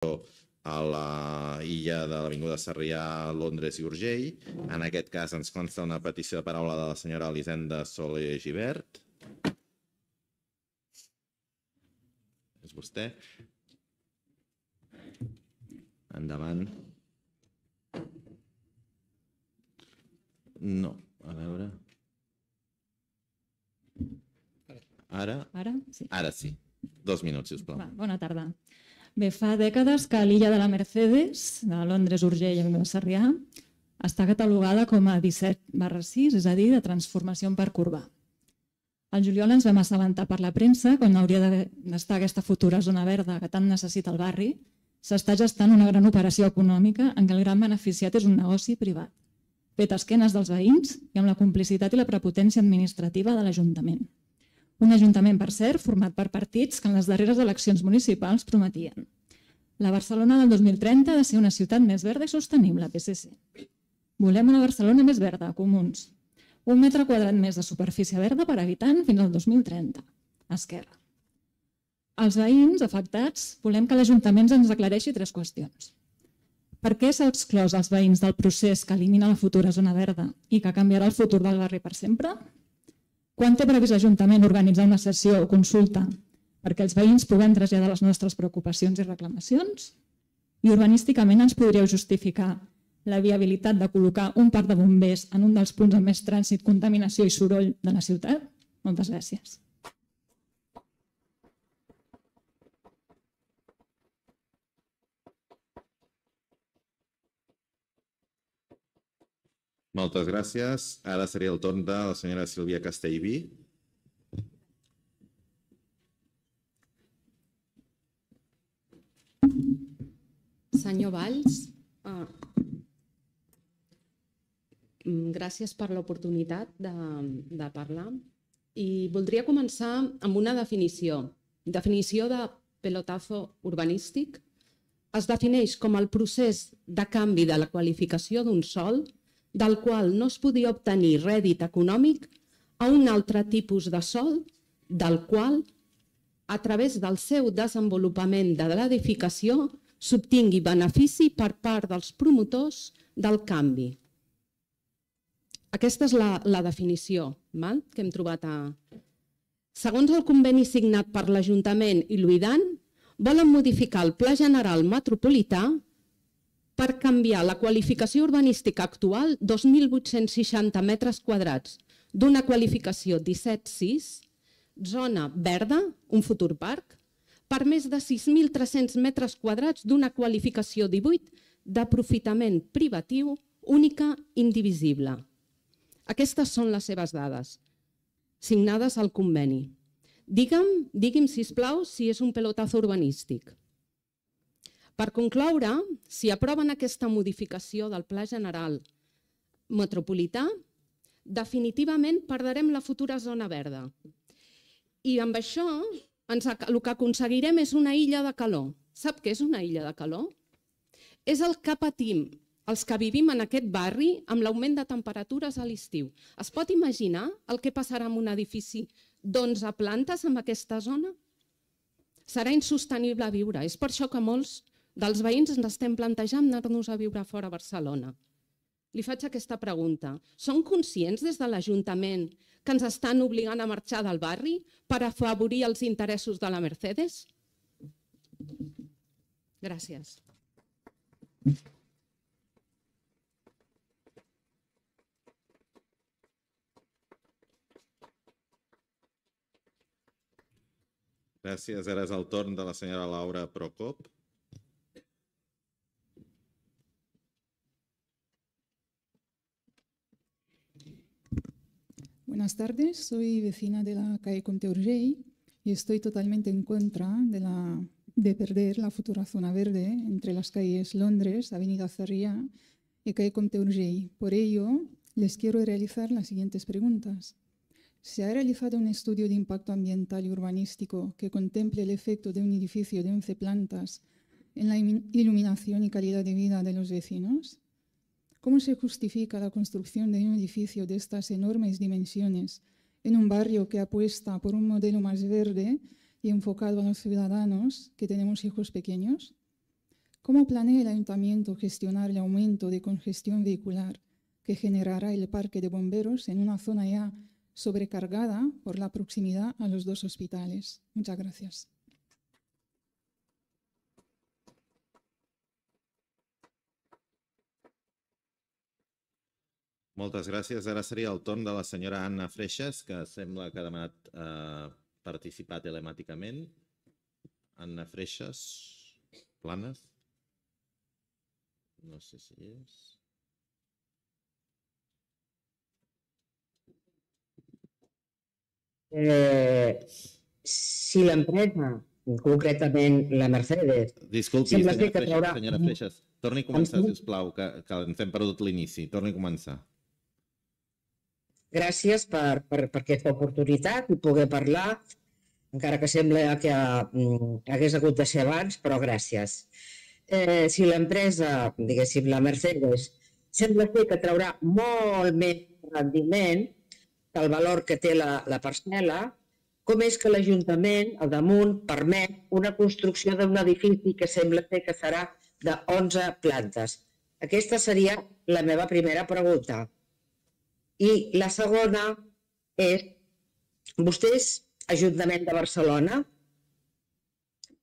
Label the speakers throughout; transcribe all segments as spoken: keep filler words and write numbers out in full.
Speaker 1: a la illa de l'Avinguda Sarrià, Londres i Urgell. En aquest cas ens consta una petició de paraula de la senyora Elisenda Soler Gibert. És vostè. Endavant. No, a veure... Ara?
Speaker 2: Ara? Sí.
Speaker 1: Ara sí. Dos minuts, sisplau.
Speaker 2: Bona tarda. Bé, fa dècades que l'illa de la Mercedes, de Londres, Urgell i Avinguda Sarrià, està catalogada com a disset barra sis, és a dir, de transformació en parc urbà. Al juliol ens vam assabentar per la premsa, quan hauria d'estar aquesta futura zona verda que tant necessita el barri, s'està gestant una gran operació econòmica en què el gran beneficiat és un negoci privat, fet a esquenes dels veïns i amb la complicitat i la prepotència administrativa de l'Ajuntament. Un ajuntament, per cert, format per partits que en les darreres eleccions municipals prometien. La Barcelona del dos mil trenta ha de ser una ciutat més verda i sostenible, P S C. Volem una Barcelona més verda, comuns. Un metre quadrat més de superfície verda per habitant fins al dos mil trenta. Esquerra. Els veïns afectats volem que l'Ajuntament ens aclareixi tres qüestions. Per què s'ha exclòs els veïns del procés que elimina la futura zona verda i que canviarà el futur del barri per sempre? Quan té previst l'Ajuntament organitzar una sessió o consulta perquè els veïns puguem traslladar les nostres preocupacions i reclamacions? I urbanísticament ens podríeu justificar la viabilitat de col·locar un parc de bombers en un dels punts amb més trànsit, contaminació i soroll de la ciutat? Moltes gràcies.
Speaker 1: Moltes gràcies. Ara seria el torn de la senyora Sílvia Castellví.
Speaker 3: Senyor Valls, gràcies per l'oportunitat de parlar i voldria començar amb una definició. Definició de pelotazo urbanístic es defineix com el procés de canvi de la qualificació d'un sòl del qual no es podia obtenir rèdit econòmic a un altre tipus de sòl del qual, a través del seu desenvolupament de l'edificació, s'obtingui benefici per part dels promotors del canvi. Aquesta és la definició que hem trobat. Segons el conveni signat per l'Ajuntament i l'U I D A N, volen modificar el Pla General Metropolità per canviar la qualificació urbanística actual, dos mil vuit-cents seixanta metres quadrats, d'una qualificació disset sis, zona verda, un futur parc, per més de sis mil tres-cents metres quadrats d'una qualificació divuit d'aprofitament privatiu única indivisible. Aquestes són les seves dades, signades al conveni. Digue'm, digui'm, sisplau, si és un pelotazo urbanístic. Per concloure, si aproven aquesta modificació del Pla General Metropolità, definitivament perdrem la futura zona verda. I amb això el que aconseguirem és una illa de calor. Sap què és una illa de calor? És el que patim els que vivim en aquest barri amb l'augment de temperatures a l'estiu. Es pot imaginar el que passarà amb un edifici d'onze plantes en aquesta zona? Serà insostenible viure. És per això que molts dels veïns ens estem plantejant anar-nos a viure fora a Barcelona. Li faig aquesta pregunta. Són conscients des de l'Ajuntament que ens estan obligant a marxar del barri per afavorir els interessos de la Mercedes? Gràcies.
Speaker 1: Gràcies. Ara és el torn de la senyora Laura Procop.
Speaker 4: Buenas tardes, soy vecina de la calle Comte Urgell y estoy totalmente en contra de, la, de perder la futura zona verde entre las calles Londres, Avenida Sarriá y calle Comte Urgell. Por ello, les quiero realizar las siguientes preguntas. ¿Se ha realizado un estudio de impacto ambiental y urbanístico que contemple el efecto de un edificio de once plantas en la iluminación y calidad de vida de los vecinos? ¿Cómo se justifica la construcción de un edificio de estas enormes dimensiones en un barrio que apuesta por un modelo más verde y enfocado a los ciudadanos que tenemos hijos pequeños? ¿Cómo planea el ayuntamiento gestionar el aumento de congestión vehicular que generará el parque de bomberos en una zona ya sobrecargada por la proximidad a los dos hospitales? Muchas gracias.
Speaker 1: Moltes gràcies. Ara seria el torn de la senyora Anna Freixas, que sembla que ha demanat eh, participar telemàticament. Anna Freixas, Planes. No sé si és...
Speaker 5: Eh, si l'empresa, concretament la Mercedes...
Speaker 1: Disculpi,
Speaker 5: sembla
Speaker 1: senyora
Speaker 5: ser que
Speaker 1: Freixas,
Speaker 5: traurà...
Speaker 1: senyora Freixas, torni a començar, sisplau, que, que ens hem perdut l'inici. Torni a començar.
Speaker 5: Gràcies per, per, per aquesta oportunitat i poder parlar, encara que sembla que mm, hagués hagut de ser abans, però gràcies. Eh, si l'empresa, diguéssim, la Mercedes, sembla ser que traurà molt més rendiment que el valor que té la, la parcel·la, com és que l'Ajuntament, al damunt, permet una construcció d'un edifici que sembla ser que serà d'onze plantes. Aquesta seria la meva primera pregunta. I la segona és, vostès, Ajuntament de Barcelona,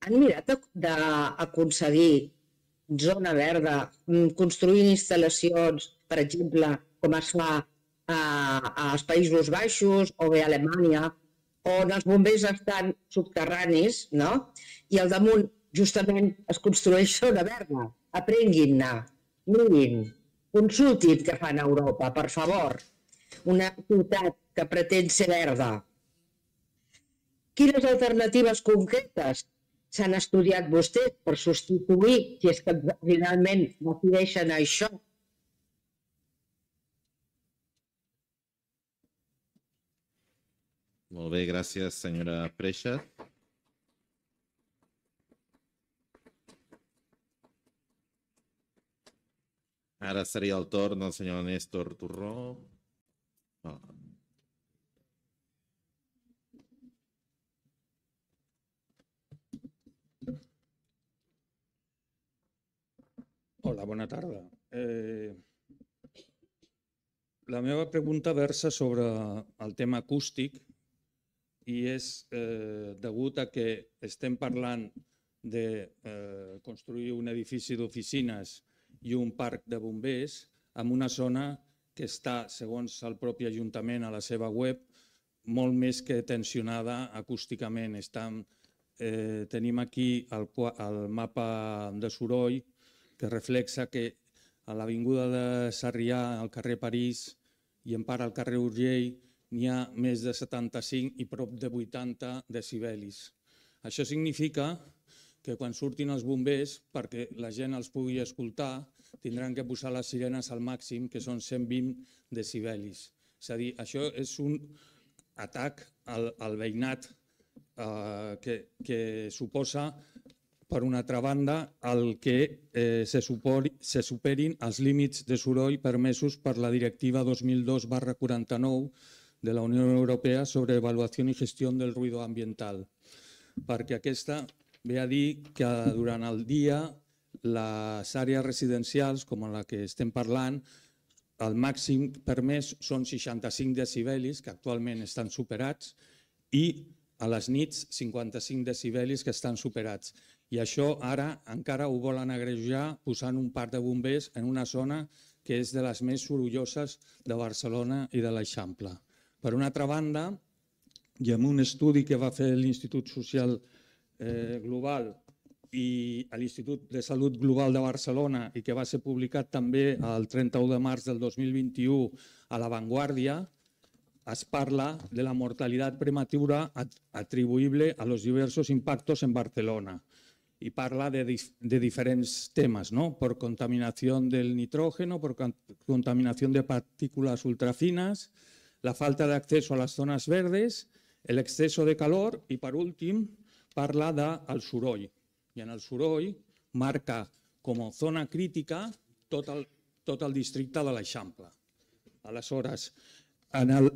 Speaker 5: han mirat d'aconseguir zona verda, construint instal·lacions, per exemple, com es fa als Països Baixos o bé a Alemanya, on els bombers estan subterranis, no? I al damunt, justament, es construeix zona verda. Aprenguin-ne, mirin, consultin què fan a Europa, per favor. Una ciutat que pretén ser verda. Quines alternatives concretes s'han estudiat vostès per substituir, si és que finalment decideixen això?
Speaker 1: Molt bé, gràcies, senyora Freixas. Ara seria el torn del senyor Néstor Torró. Oh.
Speaker 6: Hola, bona tarda. Eh, la meva pregunta versa sobre el tema acústic i és eh, degut a que estem parlant de eh, construir un edifici d'oficines i un parc de bombers en una zona que està, segons el propi Ajuntament a la seva web, molt més que tensionada acústicament. Estam, eh, tenim aquí el, el mapa de soroll que reflexa que a l'avinguda de Sarrià, al carrer París i en part al carrer Urgell n'hi ha més de setanta-cinc i prop de vuitanta decibelis. Això significa que quan surtin els bombers, perquè la gent els pugui escoltar, tindran que posar les sirenes al màxim, que són cent vint decibelis. És a dir, això és un atac al, al veïnat eh, que, que suposa, per una altra banda, el que eh, se, supori, se superin els límits de soroll permesos per la Directiva dos mil dos barra quaranta-nou de la Unió Europea sobre avaluació i gestió del ruïdo ambiental. Perquè aquesta ve a dir que durant el dia les àrees residencials, com la que estem parlant, el màxim permès són seixanta-cinc decibelis, que actualment estan superats, i a les nits cinquanta-cinc decibelis que estan superats. I això ara encara ho volen agreujar posant un parc de bombers en una zona que és de les més sorolloses de Barcelona i de l'Eixample. Per una altra banda, i amb un estudi que va fer l'Institut Social Global i l'Institut de Salut Global de Barcelona i que va ser publicat també el trenta-u de març del dos mil vint-i-u a La Vanguardia, es parla de la mortalitat prematura atribuïble a los diversos impactos en Barcelona. Y parla de, de diferentes temas, ¿no? Por contaminación del nitrógeno, por contaminación de partículas ultrafinas, la falta de acceso a las zonas verdes, el exceso de calor y, por último, parla del soroll. I en el soroll marca com a zona crítica tot el, tot el districte de l'Eixample. Aleshores, en el,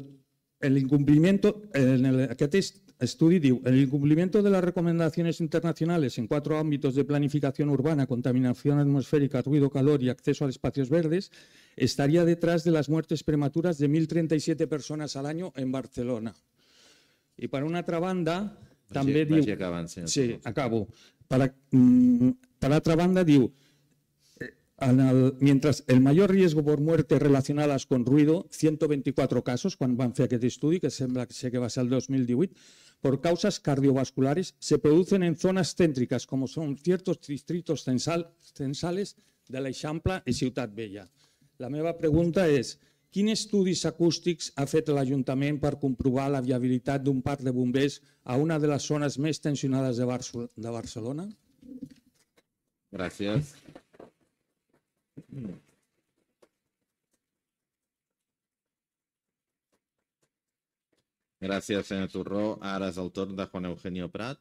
Speaker 6: el incumplimiento, en el, aquest estudi diu, el incumplimiento de las recomendaciones internacionales en cuatro ámbitos de planificación urbana, contaminación atmosférica, ruido, calor y acceso a espacios verdes, estaría detrás de las muertes prematuras de mil treinta y siete personas al año en Barcelona. I per una altra banda, també
Speaker 1: vagi,
Speaker 6: diu...
Speaker 1: Vagi acabant, senyor.
Speaker 6: Sí, acabo. Per, per altra banda, diu, en el, mientras el mayor riesgo por muerte relacionadas con ruido, ciento veinticuatro casos, quan van fer aquest estudi, que sembla que sé que va ser el dos mil divuit, por causas cardiovasculares se producen en zonas céntricas, como son ciertos distritos censal, censales de l'Eixample i Ciutat Vella. La meva pregunta és, quins estudis acústics ha fet l'Ajuntament per comprovar la viabilitat d'un parc de bombers a una de les zones més tensionades de, Bar de Barcelona?
Speaker 1: Gràcies. Gràcies, senyor Torró. Ara és el torn de Juan Eugenio Prat.